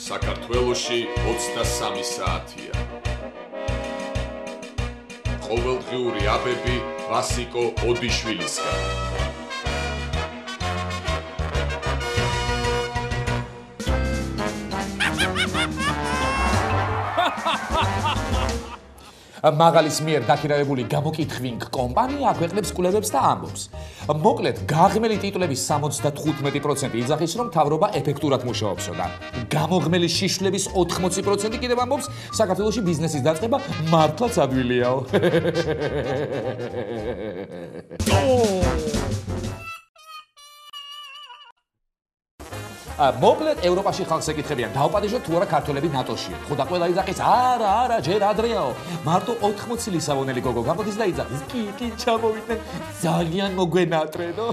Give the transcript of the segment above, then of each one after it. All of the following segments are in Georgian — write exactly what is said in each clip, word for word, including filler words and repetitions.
საქართველოში ოცდასამი საათია. ყოველდღიური აბები ვასიკო ოდიშვილისგან. მაგალის მიერ დაქირავებული გამოკითხვინგ კომპანია აქვეყნებს კვლევებს და ამბობს. მოკლედ, გაღმელი ტიტულების სამოცდათხუთმეტი პროცენტი იძახის, რომ მთავრობა ეფექტურად მუშაობსო და გამოღმელი შიშვლების ოთხმოცი პროცენტი კიდევ ამბობს, საქართველოში ბიზნესის დაწყება მართლაც ადვილიაო. მოკლედ ევროპაში ხალხს ეკითხებიან დაუპატიჟოთ თუ არა ქართველები ნატოშია. ხო და ყველა იძახის არა არა ჯერ ადრეაო. მარტო ოთხმოცი ლისაბონელი გოგო გამოდის და იძახის კი კი ჩამოვიდნენ ძალიან მოგვენატრენო.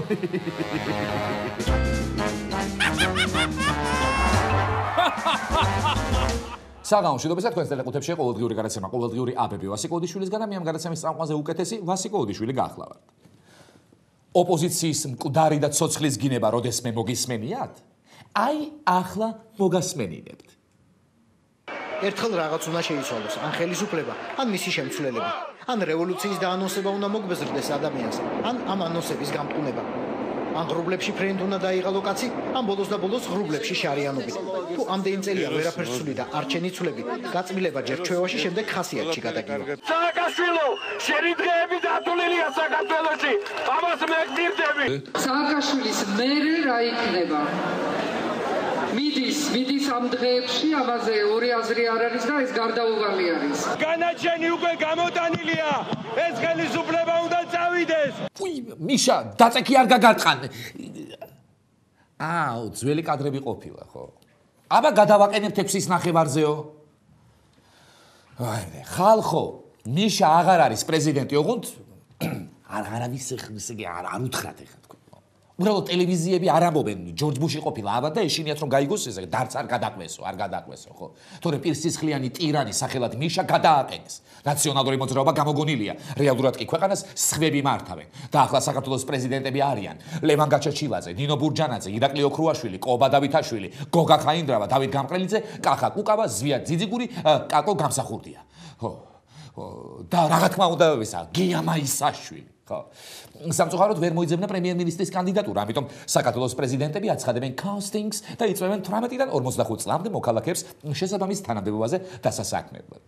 საგამო მშვიდობისა თქვენს ტელეკუთებში ყოველდღიური გადაცემა ყოველდღიური აბები ვასიკო ოდიშვილისგან და მე ამ გადაცემის წამყვანზე უკეთესი ვასიკო ოდიშვილი გახლავართ. ოპოზიციის მკვდარი და ცოცხლის გინება როდესმე მოგისმენიათ? აი ახლა მოგასმენინებთ. ერთხელ რაღაც უნდა შეიცვალოს, ან ხელისუფლება, ან მისი შემცვლელები, ან რევოლუციის დაანონსება უნდა მოგბეზრდეს ადამიანს, ან ამ ანონსების გამყუნება. ან ღრუბლებში ფრენდ უნდა დაიღალო კაცი, ან ბოლოს და ბოლოს ღრუბლებში შარიანობით. თუ ამდენი წელია ვერაფერს ცვლი და არ ჩენიცვლები, გაწმილება ჯერ ჩვევაში, შემდეგ ხასიათში გადაგივა. სააკაშვილო, შენი დღეები დათვლილია საქართველოში. ამას მე გძირდები. სააკაშვილის მერე რა იქნება? მიდის, მიდის ამ დღეებში, ამაზე ორი აზრი არ არის და ეს გარდაუვალი არის. განაჩენი უკვე გამოტანილია. ეს ხელისუფლება უნდა წავიდეს. უი, მიშა, დაწექი არ გაგარტყან. აუ, ძველი კადრები ყოფილა, ხო? აბა გადავაყენებთ ექვსის ნახევარზეო. აი, ხალხო, მიშა აღარ არის პრეზიდენტი, ოღონდ არ არავის ხმისგე არ არ უთხრათ ეხლა თქვენ. უბრალოდ ტელევიზიები არ ამბობენ ჯორჯ ბუში ყოფილა აბა და ეშინიათ რომ გაიგოს ესე დარც არ გადაყვესო, არ გადაყვესო, ხო? თორე პირსისხლიანი ტირანი სახელად მიშა გადააყენეს. ნაციონალური მოძრაობა გამოგონილია. რეალურად კი ქვეყანას სხვები მართავენ. და ახლა საქართველოს პრეზიდენტები არიან: ლევან გაჩეჩილაძე, ნინო ბურჯანაძე, ირაკლი ოქრუაშვილი, ყობა დავითაშვილი, გოგა ხაინდრავა, დავით გამყრელიძე, კახა კუკავა, ზვია ძიძიგური, კაკო გამსახურდია. ხო. და რა თქმა უნდა, ისა გია მაისაშვილი. ხო. სამწუხაროდ ვერ მოიძებნა პრემიერ-მინისტრის კანდიდატურა, ამიტომ საქართველოს პრეზიდენტები აცხადებენ casting-ს და იწვევენ თვრამეტიდან ორმოცდახუთ წლამდე მოქალაქეებს შესაბამის თანამდებობაზე დასასაქმებლად.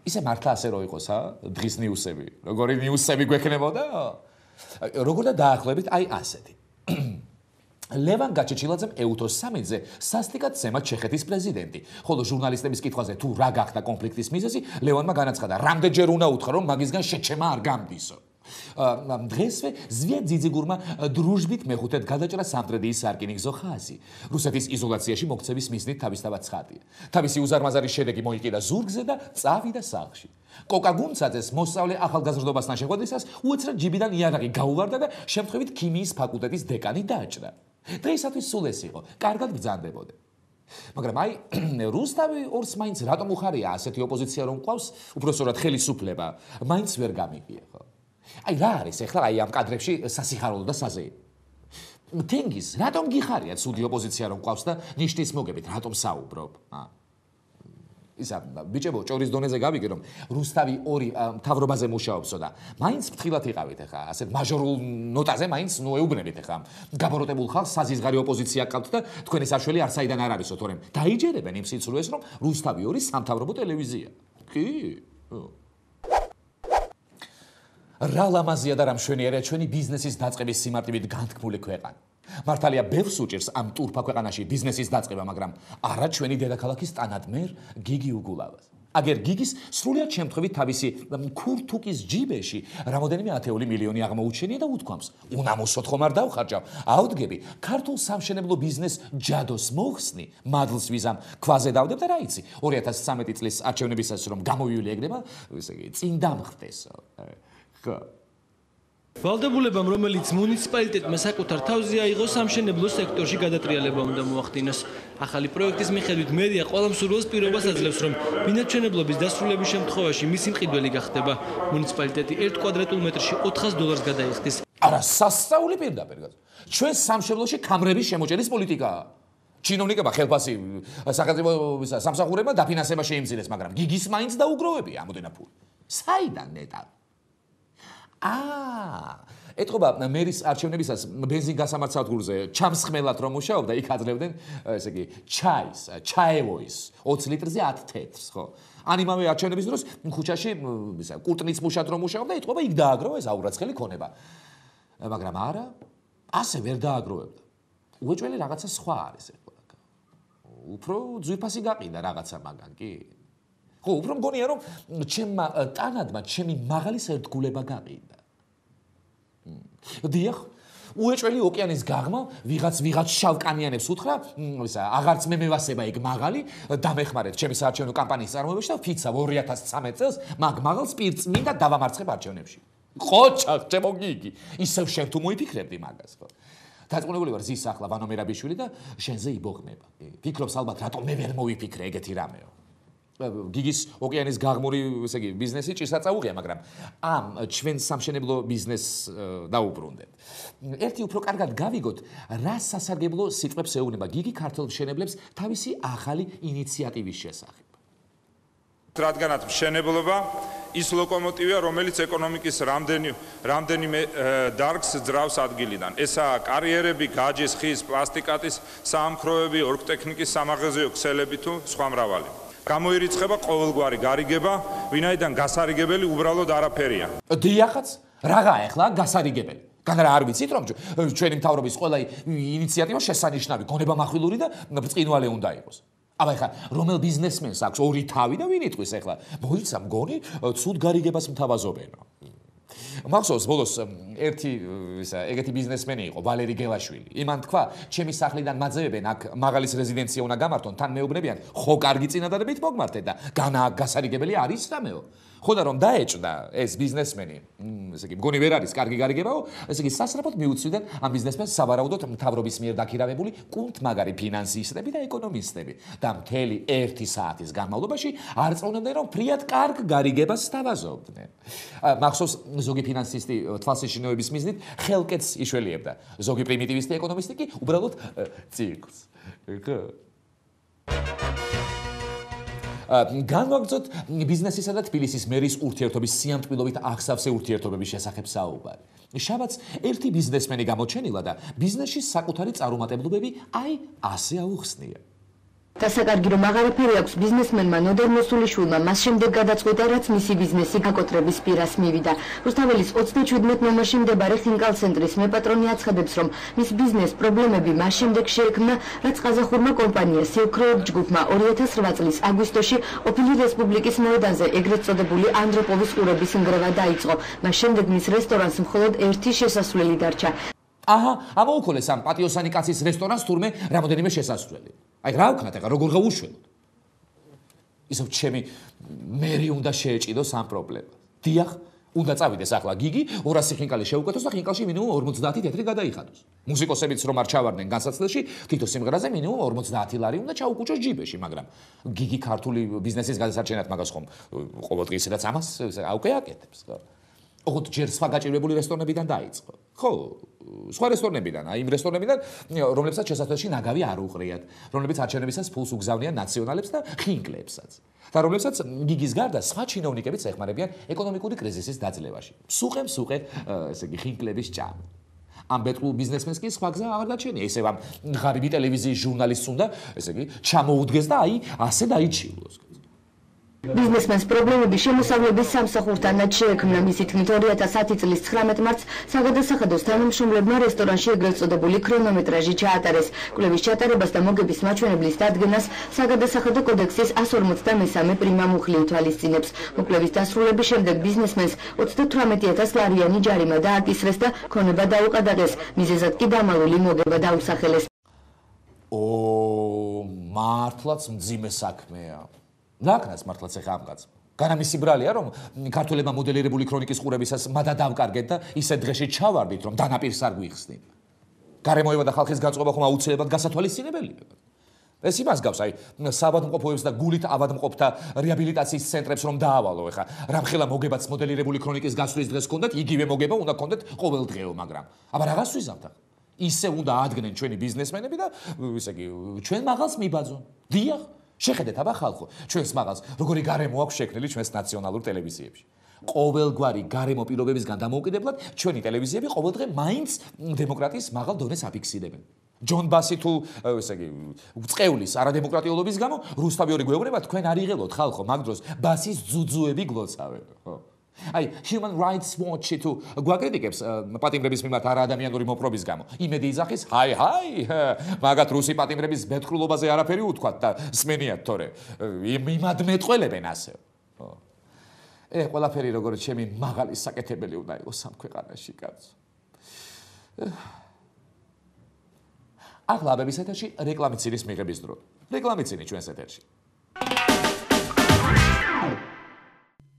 ისე მართლა ასე რო იყოს, ა? დღის ნიუსები. როგორი ნიუსები გვექნებოდა? როგორ და დაახლოებით აი ასეთი. ლევან გაჩეჩილაძემ ეუთოს სამიძე სასტიკად ზემოთ ჩეხეთის პრეზიდენტი. ხოლო ჟურნალისტების კითხვაზე თუ რა გახდა კონფლიქტის მიზეზი, ლევანმა განაცხადა, რამდენჯერ უნდა უთხრა, რომ მაგისგან შეჩემა არ გამდისო. დღესვე ზვია ძიძიგურმა დრუჟბით მეხუთედ გადაჭრა სამტრედიის სარკინიგზო ხაზი. რუსეთის იზოლაციაში მოქცევის მიზნით თავისთავად ცხადია. თავისი უზარმაზარი შედეგი მოიყიდა ზურგზე და წავიდა სახლში. კოკა გუნცაძეს მოსწავლე ახალგაზრდობასთან შეხვედრისას უეცრად ჯიბიდან იარაღი გაუვარდა და შემთხვევით ქიმიის ფაკულტეტის დეკანი დააჭრა. დღეისათვის სულ ეს იყო, კარგად ბრძანდებოდა. მაგრამ აი რუსთავი ორს მაინც რატომ უხარია ასეთი ოპოზიცია რომ ყავს, უბრალოდ ხელისუფლება მაინც ვერ გამიგია, ხო? აი რა არის ახლა აი ამ კადრებში სასიხარულო და საზეიმო. თენგიზ, რატომ გიხარია ცუდი ოპოზიცია რომ ყავს და ნიშნის მოგებით რატომ საუბრობ? აა ისა ბიჭებო, ჭორის დონეზე გავიგე რომ რუსთავი ორი მთავრობაზე მუშაობსო და მაინც ფრთხილად იყავით ახლა, ასეთ მაჟორულ ნოტაზე მაინც ნუ ეუბნებით ახლა. გაბოროტებულ ხალხს საზიზღარი ოპოზიცია ყავთ და თქვენი საშველი არ საიდან არ არისო, თორემ დაიჯერებენ იმ სიცრუეს რომ რუსთავი ორი სამთავრობო ტელევიზია. კი? რა ლამაზია და რა მშვენიერია ჩვენი ბიზნესის დაწყების სიმარტივით განთქმული ქვეყანა. მართალია ბევრს უჭირს ამ ტურფა ქვეყანაში ბიზნესის დაწყება, მაგრამ არა ჩვენი დედაქალაქის ტანადმერ გიგი უგულავას. აგერ გიგის სრულიად შემთხვევით თავისი ქურთუკის ჯიბეში რამოდენიმე ათეული მილიონი აღმოუჩენია და უთქვამს: "უნამოსოდ ხომ არ დავხარჯავ? აუდგები, ქართულ სამშენებლო ბიზნეს ჯადოს მოხსნი, მადლს ვიზამ, ქვაზე დავდებ და რა იცი, ორი ათას ცხრამეტი წლის არჩევნებისას რომ გამოვივლი ეგრება, ესე იგი, წინ დამხტესო." ვალდებულებამ, რომელიც მუნიციპალიტეტმა საკუთარ თავზე აიღო, სამშენებლო სექტორში გადატრიალება უნდა მოახდინოს. ახალი პროექტის მიხედვით მერია ყველა მსურველს პირობას აძლევს, რომ ბინადრჩენებლობის დასრულების შემთხვევაში მისი მყიდველი გახდება. მუნიციპალიტეტი ერთ კვადრატულ მეტრში ოთხას დოლარს გადაიხდის. არა, სასწაული პირდაპირ. ჩვენ სამშენებლოში კამრების შემოჭერის პოლიტიკაა. ჩინოვნიკებმა ხელფასი სახელმწიფო სამსახურებმა დაფინანსება შეიმცირეს, მაგრამ გიგის მაინც დაუგროვებია ამდენად ფული. საიდან ნეტა? აა, ეთქობა მერის არჩევნებისას ბენზინ გასამართ სადგურზე ჩამსხმელად რომ მუშაობდა, იქ აძლევდნენ, ესე იგი, ჩაის, ჩაევოის ოცი litrზე ათ თეთრს, ხო? ან იმავე არჩევნების დროს ქუჩაში ისა კურტნის მუშად რომ მუშაობდა, ეთქობა იქ დააგროვა ეს აურაცხელი ქონება. მაგრამ არა, ასე ვერ დააგროვებდა. უეჭველი რაღაცა სხვა არის ეხლა. უფრო ძვირფასი გაყიდა რაღაცა მაგან კი? ხო, უფრო მგონია რომ ჩემმა ტანადმა ჩემი მაღალი სერდგულება გაყიდა. დიახ, უეჭველი ოკეანის გაღმა ვიღაც ვიღაც შავკანიანებს უთხრა, ისა აღარც მე მევასება იქ მაღალი, დამეხმარეთ ჩემი საარჩევნო კამპანიის წარმოებაში და ვფიცავ ორი ათას ცხრამეტ წელს მაგ მაღალს პირწ მინდა დავამარცხებ არჩევნებში. ხო, ჩემო გიგი, ისევ შენ თუ მოიფიქრებდი მაგას, ხო? დაწუნებული ვარ ზის ახლა ვანო მერაბიშვილი და შენზე იბოღნება. ფიქრობს ალბათ რატომ მე ვერ მოვიფიქრე ეგეთი რამეო. გიგის ოკეანის გაღმური, ესე იგი, ბიზნესი ჭირსა წაუღია, მაგრამ ამ ჩვენ სამშენებლო ბიზნესს დაუბრუნდეთ. ერთი უფრო კარგად გავიგოთ, რა სასარგებლო სიტყვებს ეუბნება გიგი ქართველ მშენებლებს თავისი ახალი ინიციატივის შესახებ. რადგანაც მშენებლობა ის ლოკომოტივია, რომელიც ეკონომიკის რამდენი რამდენიმე დარგს ძრავს ადგილიდან. ესაა კარიერები, გაჯის, ხის, პლასტიკატის, საამქროები, ორგტექნიკის სამაღაზიო ქსელები თუ სხვა მრავალი. გამოირიცხება ყოველგვარი გარიგება, ვინაიდან გასარიგებელი უბრალოდ არაფერია. დიახაც, რაღაა ახლა გასარიგებელი? განარა არ ვიცით რომ ჩვენი მთავრობის ყველა ინიციატივა შესანიშნავი, გონებამახვილური და ბრწყინვალე უნდა იყოს. აბა ეხლა რომელ ბიზნესმენს აქვს ორი თავი და ვინ იტყვის ეხლა? მოიცა მგონი ცუდ გარიგებას მთავაზობენო. მახსოვს ბოლოს ერთი ისა ეგეთი ბიზნესმენი იყო ვალერი გელაშვილი. იმან თქვა, ჩემი სახლიდან მაძევებენ, აქ მაღალის რეზიდენცია უნდა გამართონ, თან მეუბნებიან, ხო კარგი წინადადებით მოგმართეთ და განა გასარიგებელი არის რამეო. ხო და რომ დაეჭდა ეს ბიზნესმენი, ესე იგი, მგონი ვერ არის კარგი გარიგებაო, ესე იგი, სასწრაფოდ მიუწვდნენ ამ ბიზნესმენს სავარაუდოდ მთავრობის მიერ დაქირავებული კუნთმაგარი ფინანსისტები და ეკონომისტები და მთელი ერთი საათის განმავლობაში არ წონებდნენ რომ ფრიად კარგ გარიგებას სთავაზობდნენ. მახსოვს ზოგი ფინანსისტი თვალსაჩინოების მიზნით ხელკეთს იშველიებდა. ზოგი პრიმიტივისტი ეკონომისტი კი უბრალოდ ცირკს. ხო? განვაგრძოთ ბიზნესისა და თბილისის მერის ურთიერთობის სიამტკბილობით აღსავსე ურთიერთობების შესახებ საუბარი. შაბათს ერთი ბიზნესმენი გამოჩენილა და ბიზნესში საკუთარი წარუმატებლობები აი ასე აუხსნია. დასაკარგი რომ აღარაფერი აქვს ბიზნესმენმა ნოდარ მოსულიშვილმა მას შემდეგ გადაწყვიტა, რაც მისი ბიზნესი გაკოტრების პირას მივიდა. რუსთაველის ოცდაჩვიდმეტ ნომერში მდებარე ხინკალ ცენტრის მეპატრონი აცხადებს, რომ მის ბიზნეს პრობლემები მას შემდეგ შეექმნა, რაც ყაზახურმა კომპანია სილკროუდ ჯგუფმა ორი ათას რვა წლის აგვისტოში ყოფილი რესპუბლიკის მოედანზე ეგრეთ წოდებული ანდროპოვის ყურების ნგრევა დაიწყო. მას შემდეგ მის რესტორანს მხოლოდ ერთი შესასვლელი დარჩა. აჰა, ამოუქოლეს ამ პატიოსანი კაცის რესტორანს თურმე რამოდენიმე შესასვლელი. აი რა ვქნათ ახლა როგორ გავუშველოთ? ისევ ჩემი მერი უნდა შეეჭიდოს ამ პრობლემას. დიახ, უნდა წავიდეს ახლა გიგი, ორასი ხინკალი შეუკეთოს და ხინკალში მინიმუმ ორმოცდაათი თეთრი გადაიხადოს. მუსიკოსებიც რომ არ ჩავარდნენ განსაცდელში, თითო სიმღერაზე მინიმუმ ორმოცდაათი ლარი უნდა ჩაუკუჭოს ჯიბეში, მაგრამ გიგი ქართული ბიზნესის გადასარჩენად მაგას ხომ ყოველდღე ისედაც ამას აუკე აკეთებს, ხო? ოღონდ ჯერ სხვა გაჭირვებული რესტორნებიდან დაიწყო. ხო, სხვა რესტორნებიდან, აი იმ რესტორნებიდან, რომლებსაც შესაძლოა ნაგავი არ უყრიათ, რომლებიც არჩევნებისას ფულს უგზავნიან ნაციონალებს და ხინკლებსაც. და რომლებსაც გიგის გარდა სხვა ჩინოვნიკებიც ეხმარებიან ეკონომიკური კრიზისის დაძლევაში. სუყე მსუყე, ესე იგი, ხინკლების ჭამი. ამ ბეთყულ ბიზნესმენს კი სხვა გზა აღარ გაჩენია. ისევ ამ ღარიბი ტელევიზიის ჟურნალისტს უნდა, ესე იგი, ჩამოუდგეს და აი ასე დაიჩივლოს. ბიზნესმენს პრობლემები შემოსავლების სამსახურთანაც შეექმნა. მისი თქმით ორი ათას ათი წლის ცხრამეტ მარტს საგადასახადოს თანამშრომლებმა რესტორანში ეგრეთ წოდებული ქრონომეტრაჟი ჩაატარეს. კვლევის ჩატარებას და მოგების მაჩვენებლის დადგენას საგადასახადო კოდექსის εκατს ორმოცდამესამე პრიმა მუხლი უთვალისწინებს. მოკვლევის დასრულების შემდეგ ბიზნესმენს ოცდათვრამეტი ათას ლარიანი ჯარიმა დააკისრეს და ქონება დაუყადაღეს. მიზეზად კი დამალული მოგება დაუსახელეს. ო, მართლაც მძიმე საქმეა. ნაკნას მართლაც ეხა ამ კაცს. განა მისი ბრალია რომ ქართველებმა მოდელირებული ქრონიკის ყურებისას მადა დავკარგეთ და ისე დღეში ჩავარდით რომ დანაპირს არ გვიხსნით. გარემოება და ხალხის გაწყობა ხომ აუცილებლად გასათვალისწინებელია. ეს იმას გავს, აი, საბადმყოფოებს და გულით ავადმყოფთა რეაბილიტაციის ცენტრებს რომ დაავალო ეხა. რამხელა მოგებაც მოდელირებული ქრონიკის გასვლის დღეს ჰქონდათ, იგივე მოგება უნდა ჰქონდეთ ყოველდღეო, მაგრამ აბა რაღაც ვიზამთ ახლა. ისე უნდა ადგენენ ჩვენი ბიზნესმენები და ისე იგი ჩვენ მაღალს მიბაძონ. დიახ, შეხედეთ აბა ხალხო, ჩვენს მაღალს როგორი გარემო აქვს შექმნილი ჩვენს ნაციონალურ ტელევიზიებში. ყოველგვარი გარემო პირობებისგან დამოუკიდებლად ჩვენი ტელევიზიები ყოველდღე მაინც დემოკრატიის მაღალ დონეს აფიქსირებენ. ჯონ ბასი თუ ესე იგი წეულის არადემოკრატიულობის გამო რუსთავი ორი გვეუბნება თქვენ არ იღელოთ ხალხო მაგ დროს ბასის ძუძუები გლოცავენ ხო აი Human Rights Watch-ი თუ გვაკრიტიკებს პატიმრების მიმართ არაადამიანური მოპყრობის გამო იმედი იძახის ჰაი ჰაი მაგათ რუსი პატიმრების ბეთქრულობაზე არაფერი უთქვათ და სმენიათ თორე მიმადმეტყველებენ ასე ხო ე ყველაფერი როგორც ჩემი მაღალი საკეთებელი უნდა იყოს ამ ქვეყანაში კაცო ახლა აბების ეთერში რეკლამიცინის მიღების დრო. რეკლამიცინი ჩვენს ეთერში.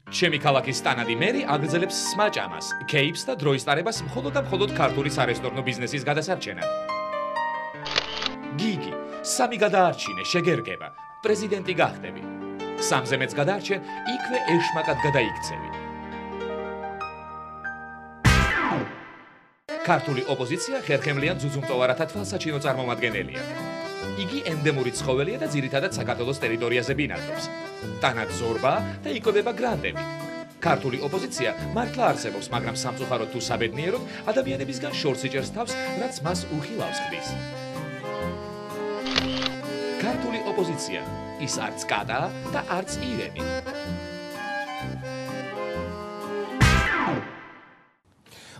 ჩემი ქალაქის სტანადი მერი აგრძელებს სმაჭამას, კეიპს და დროის ტარებას მხოლოდ და მხოლოდ ქართული სარესტორნო ბიზნესის გადასარჩენად. გიგი, სამი გადაარჩინე, შეგერგება, პრეზიდენტი გახდები. სამზე მეც გადაარჩენ, იქვე ეშმაკად გადაიქცევი. ქართული ოპოზიცია ხერხემლიან ძუძუმწოვარათა თვალსაჩინო წარმომადგენელია. იგი ენდემური ცხოველია და ძირითადად საქართველოს ტერიტორიაზე ბინადრობს. ტანად ზორბა და იკვებება გრანდებით. ქართული ოპოზიცია მართლა არსებობს, მაგრამ სამწუხაროდ თუ საბედნიეროდ ადამიანებისგან შორს იჭერს თავს, რაც მას უხილავს ხდის. ქართული ოპოზიცია ის არც კატა და არც ირემი.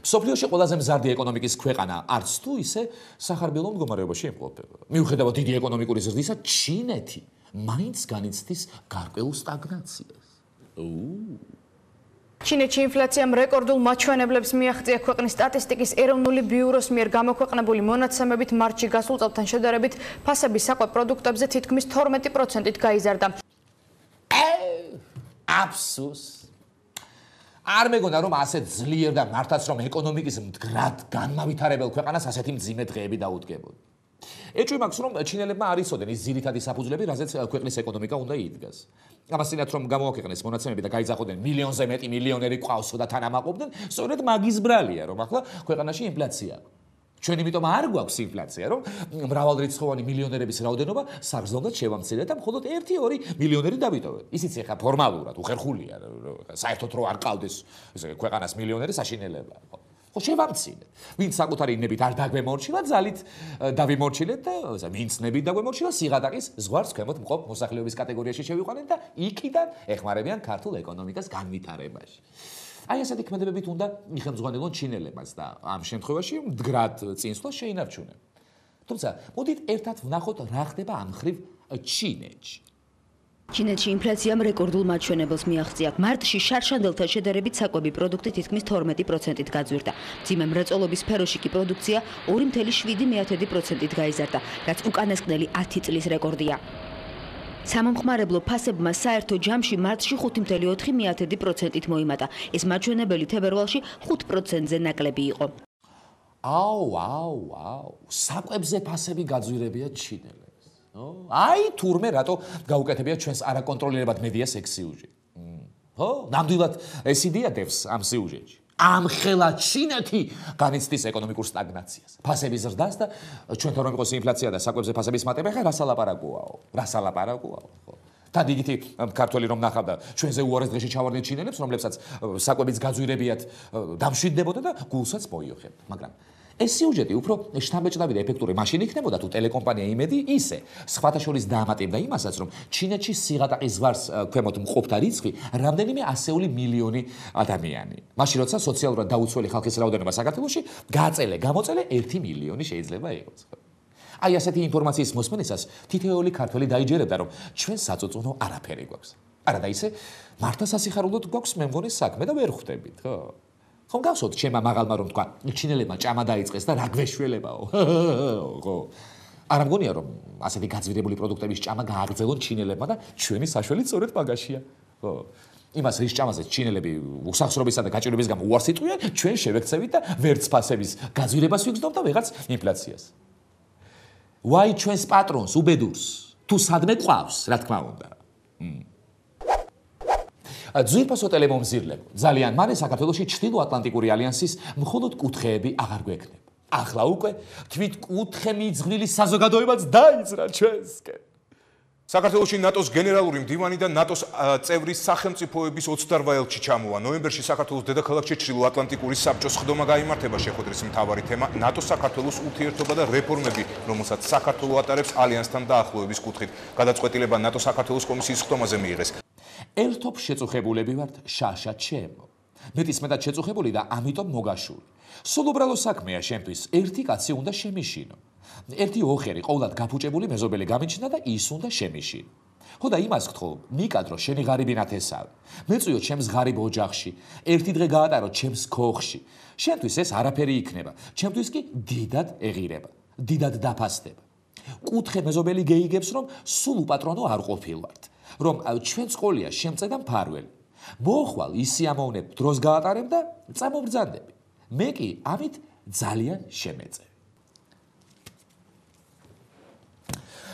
სოფლიოში ყველაზე მზარდი ეკონომიკის ქვეყანა არც თუ ისე სახარბელო მდგომარეობაში იმყოფება. მიუხედავად დიდი ეკონომიკური ზრდისა, ჩინეთი მაინც განიცდის გარკვეულ სტაგნაციას. ჩინეთში ინფლაციამ რეკორდულ მაჩვენებლებს მიაღწია ქვეყნის სტატისტიკის ეროვნული ბიუროს მიერ გამოქვეყნებული მონაცემებით მარტში გასულ წელთან შედარებით ფასები საკვე პროდუქტებზე თითქმის თორმეტი პროცენტით გაიზარდა. აფსუს არ მეგონა რომ ასე ძლიერ და მართაც რომ ეკონომიკის მდგრად განმავითარებელ ქვეყანას ასეთი მძიმე დღეები დაუდგებოდა. ეჭვი მაქვს რომ ჩინელებმა არ იცოდნენ ის ძირითადი საფუძვლები, რაზეც ქვეყნის ეკონომიკა უნდა იდგას. ამასთანავე რომ გამოაქვეყნეს მონაცემები და გაიძახოდნენ მილიონზე მეტი მილიონერი ყავსო და თანამაყობდნენ, სწორედ მაგის ბრალია რომ ახლა ქვეყანაში ინფლაცია აქვს. ჩვენ იმიტომ არ გვაქვს ინფლაცია, რომ მრავალრიცხოვანი მილიონერების რაოდენობა საგრძნობლად შევამცირეთ და მხოლოდ ერთი ორი მილიონერი დავიტოვეთ. ისიც ეხა ფორმალურად უხერხულია, საერთოდ რო არ ყავდეს ესე ქვეყანას მილიონერი საშინელება. ხო შევამცირეთ. ვინც საკუთარი ნებით არ დაგვემორჩილა, ძალით დავიმორჩილეთ და ვინც ნებით დაგვემორჩილა, სიღატაკის ზღვარს ქვემოთ მყოფ მოსახლეობის კატეგორიაში შევიყვანეთ და იქიდან ეხმარებიან ქართულ ეკონომიკას განვითარებაში. აი ესეთი ქმედებებით უნდა იხელმძღვანელონ ჩინელებმაც და ამ შემთხვევაში მდგრად წინსვლას შეინარჩუნեն. თუმცა, მოდით ერთად ვნახოთ რა ხდება ამ მხრივ ჩინეთში. ჩინეთში ინფლაციამ რეკორდულ მაჩვენებელს მიაღწია. მარტში შარშანდელთან შედარებით საკვები პროდუქტი თითქმის თორმეტი პროცენტით გაძვირდა. მძიმე მრეწველობის სფეროში კი პროდუქცია ორი კoma შვიდი პროცენტით გაიზარდა, რაც უკანასკნელი ათი წლის რეკორდია. სამომხმარებლო ფასებმა საერთო ჯამში მარტში ხუთი კoma ოთხი პროცენტით მოიმატა. ეს მაჩვენებელი თებერვალში ხუთ პროცენტზე ნაკლები იყო. აუ, აუ, აუ, საკვებზე ფასები გაძვირებია ჩინელებს. აი თურმე რატო გაუკეთებია ჩვენს არაკონტროლირებად მედია სექსიუჟეტი. ხო, ნამდვილად ეს იდეა დევს ამ სიუჟეტში. ამხელა ჩინეთი განიცდის ეკონომიკურ სტაგნაციას. ფასები ზრდას და ჩვენთან რომ იყოს ინფლაცია და საკვებზე ფასების მატება, ხა რასალაპარაკოაო? რასალაპარაკოაო, ხო? და დიდითი ქართველი რომ ნახავდა ჩვენზე უარეს დღეში ჩავარდნენ ჩინელებს, რომლებსაც საკვებიც გაძვირებიათ, დამშვიდდებოდა და გულსაც მოიოხებდა. მაგრამ ეს სიუჟეტი უფრო შთამბეჭდავი და ეფექტური მაშინ იქნებოდა თუ ტელეკომპანია იმედი ისე სხვათა შორის დაამატებდა იმასაც რომ ჩინეთში სიღატაკის ზღვარს ქვემოთ მყოფთა რიცხვი რამდენიმე ასეული მილიონი ადამიანი. მაშინ როცა სოციალურად დაუცველი ხალხის რაოდენობა საქართველოში გაწელე გამოწელე ერთი მილიონი შეიძლება იყოს. აი ასეთი ინფორმაციის მოსმენისას თითოეული ქართველი დაიჯერებდა რომ ჩვენ საწუწუნო არაფერი გვაქვს. არა და ისე მართლა სასიხარულოდ გვაქვს მე მგონი საქმე და ვერ ხვდებით, ხო? ხომ გავსოთ ჩემმა მაღალმა რომ თქვა ჩინელებმა ჭამა დაიწყეს და რა გვეშველებაო ხო არ მგონია რომ ასეთი გაძვირებული პროდუქტების ჭამა გააგრძელონ ჩინელებმა და ჩვენი საშველი სწორედ მაგაშია ხო იმას რის ჭამაზეც ჩინელები უსახსრობისა და გაჭირვების გამო უარს იტყვიან ჩვენ შევექცევით და ვერც ფასების გაძვირებას ვიგრძნობ და ვიღაც ინფლაციას ვაი ჩვენს პატრონს უბედურს თუ სადმე ყავს რა თქმა უნდა ძვირფასო ტელემომზირლებო ძალიან მალე საქართველოში ჩრდილო ატლანტიკური ალიანსის მხოლოდ კუთხეები აღარ გვექნება. ახლა უკვე თვით კუთხე მიძღვნილი საზოგადოებაც დაიძრა ჩვენსკენ. საქართველოში ნატოს გენერალური მდივანი და ნატოს წევრის სახელმწიფოების ოცდაოთხ ელჩი ჩამოვა. ნოემბერში საქართველოს დედაქალაქში ჩრდილოატლანტიკური საბჭოს ხდომა გაიმართება შეხვედრის მთავარი თემა ნატოს საქართველოს ურთიერთობა და რეფორმები, რომელსაც საქართველო ატარებს ალიანსთან დაახლოების კუთხით. გადაწყვეტილება ნატო საქართველოს კომისიის ხდომაზე მიიღეს. ერთობ შეწუხებულები ვართ შაშა ჩემო. მეტისმეტად შეწუხებული და ამიტომ მოგაშური. სულ უბრალო საქმეა შემთვის ერთი კაცი უნდა შემიშინო. ერთი ოხერი ყოვლად გაფუჭებული მეზობელი გამიჩნდა და ის უნდა შემიშინო. ხო და იმას გთხოვ, მიკადრო შენი ღარიბი ნათესავი. მეწვიო ჩემს ღარიბ ოჯახში, ერთი დღე გაატარო ჩემს ქოხში. შენთვის ეს არაფერი იქნება, ჩემთვის კი დიდად ეღირება, დიდად დაფასდება. კუთხე მეზობელი გეიგებს, რომ სულ უპატრონო არ ყოფილვართ, რომ ჩვენს ყოლია შემწე და მფარველი. მოხვალ ისიამოვნებ დროს გაატარებ და წამობრძანდები. მე კი ამით ძალიან შემეწე.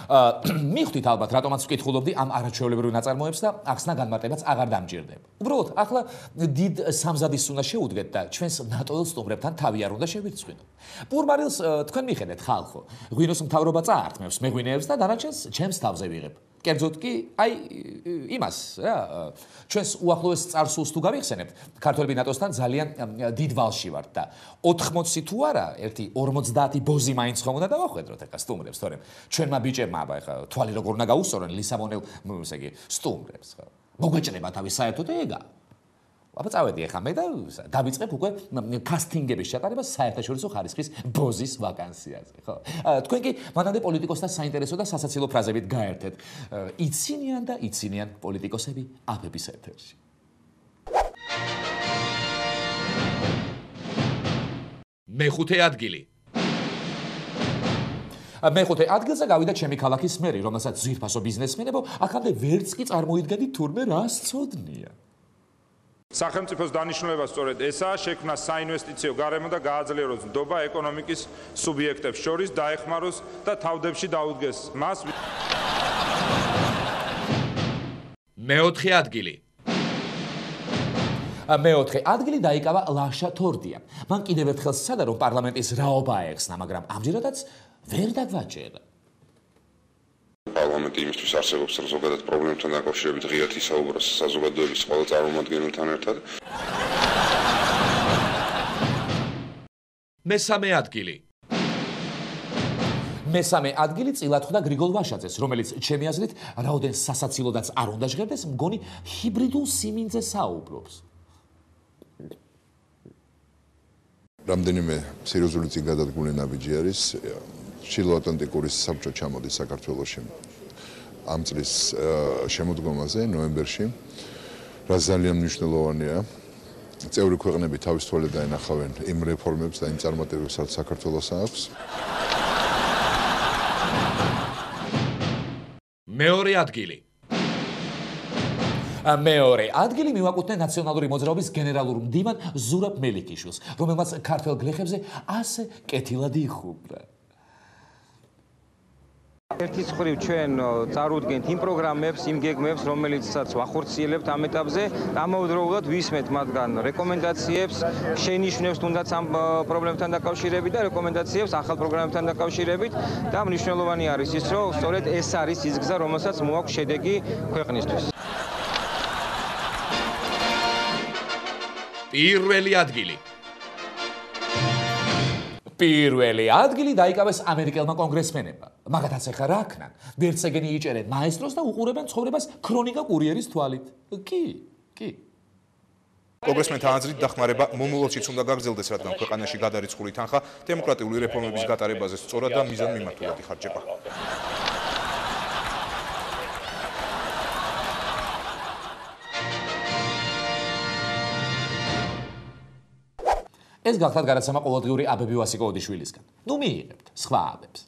მიხვდით ალბათ რატომაც ვკითხულობდი ამ არაჩვეულებრივ ნაწარმოებს და ახსნა განმარტებაც აღარ დამჭირდება. უბრალოდ ახლა დიდ სამზადისს უნდა შეუდგეთ და ჩვენს ნატოელ სტუმრებთან თავი არ უნდა შევირცხვინოთ. პურმარილს თქვენ მიხედეთ ხალხო, ღვინოს მთავრობა წაართმევს მეღვინეებს და დანარჩენს ჩემს თავზე ვიღებ. კერძოდ კი, აი იმას რა, ჩვენს უახლოეს წარსულს თუ გავიხსენებთ, ქართველები ნატოსთან ძალიან დიდ ვალში ვართ და ოთხმოცი თუ არა, ერთი ორმოცდაათი ბოზი მაინც ხომ უნდა დავახვედროთ ეხლა სტუმრებს, თორემ ჩვენმა ბიჭებმა აბა ეხლა თვალი როგორ უნდა გაუსწორონ ლისაბონელ, ესე იგი, სტუმრებს, ხო. მოგეჭრება თავის საერთოდ ეგა. აბა წავედი ეხლა მე და დავიწყებ უკვე კასტინგების ჩატარებას საერთაშორისო ხარისხის ბოზის ვაკანსიაზე, ხო? თქვენ კი მანამდე პოლიტიკოსთა საინტერესო და სასაცილო ფრაზებით გაერთეთ. იცინიან და იცინიან პოლიტიკოსები აფების ეთერში. მეხუთე ადგილი. მეხუთე ადგილზე გავიდა ჩემი ქალაქის მერი, რომელსაც ძვირფასო ბიზნესმენებო აქამდე ვერც კი წარმოიდგენით თურმე რა სწოდნია. სახელმწიფოს დანიშნულება სწორედ ესაა, შექმნა საინვესტიციო გარემო და გააძლიეროს ნდობა ეკონომიკის სუბიექტებს შორის, დაეხმაროს და თავდებში დაუდგეს მას. მეოთხე ადგილი. მეოთხე ადგილი დაიკავა ლაშა თორდიამ. მან კიდევ ერთხელ სცადა, რომ პარლამენტის რაობა აეხსნა, მაგრამ ამჯერადაც ვერ დაგვაჭერა. პარლამენტი იმისთვის არსებობს, რომ ზოგადად პრობლემებთან დაკავშირებით ღიად ისაუბროს საზოგადოების ყველა წარმომადგენელთან ერთად. მესამე ადგილი. მესამე ადგილი წილად ხვდა გრიგოლ ვაშაძეს, რომელიც ჩემი აზრით რაოდენ სასაცილოდაც არ უნდა ჟღერდეს, მგონი ჰიბრიდულ სიმინძე საუბრობს. რამდენიმე სერიოზული წიგადადგმული ნაბიჯი არის. ჩრდილოატლანტიკური საბჭო ჩამოდის საქართველოში ამ წლის შემოდგომაზე ნოემბერში, რაც ძალიან მნიშვნელოვანია. წევრი ქვეყნები თავის თვალით დაენახავენ იმ რეფორმებს და იმ წარმატებებს, რაც საქართველოს აქვს. მეორე ადგილი. მეორე ადგილი მივაკუთვნე ნაციონალური მოძრაობის გენერალურ მდივან ზურაბ მელიქიშვილს, რომელმაც ქართველ გლეხებზე ასე კეთილად იხუბრა. ერთის მხრივ ჩვენ წარუდგენთ იმ პროგრამებს, იმ გეგმებს, რომელიცაც ვახორციელებთ ამ ეტაპზე, ამავდროულად ვისმენთ მათგან რეკომენდაციებს, შენიშვნებს თუნდაც ამ პრობლემებთან დაკავშირებით და რეკომენდაციებს ახალ პროგრამებთან დაკავშირებით და მნიშვნელოვანი არის ის, რომ სწორედ ეს არის ის გზა, რომელსაც მოაქვს შედეგი ქვეყნისთვის. პირველი ადგილი. პირველი ადგილი დაიკავეს ამერიკელმა კონგრესმენებმა. მაგათაც ახლა რა ქნან? ვერცეგენი იჭერენ მაესტროს და უყურებენ ცხოვრებას ქრონიკა კურიერის თვალით. კი, კი. კონგრესმენთა აზრით დახმარება მომავალშიც უნდა გაგრძელდეს, რადგან ქვეყანაში გადარიცხული თანხა დემოკრატიული რეფორმების გატარებაზე სწორად და მიზანმიმართულად იხარჯება. ეს გახლავთ გადაცემა ყოველდღიური აბები ვასიკო ოდიშვილისგან. ნუ მიიღებთ სხვა აბებს.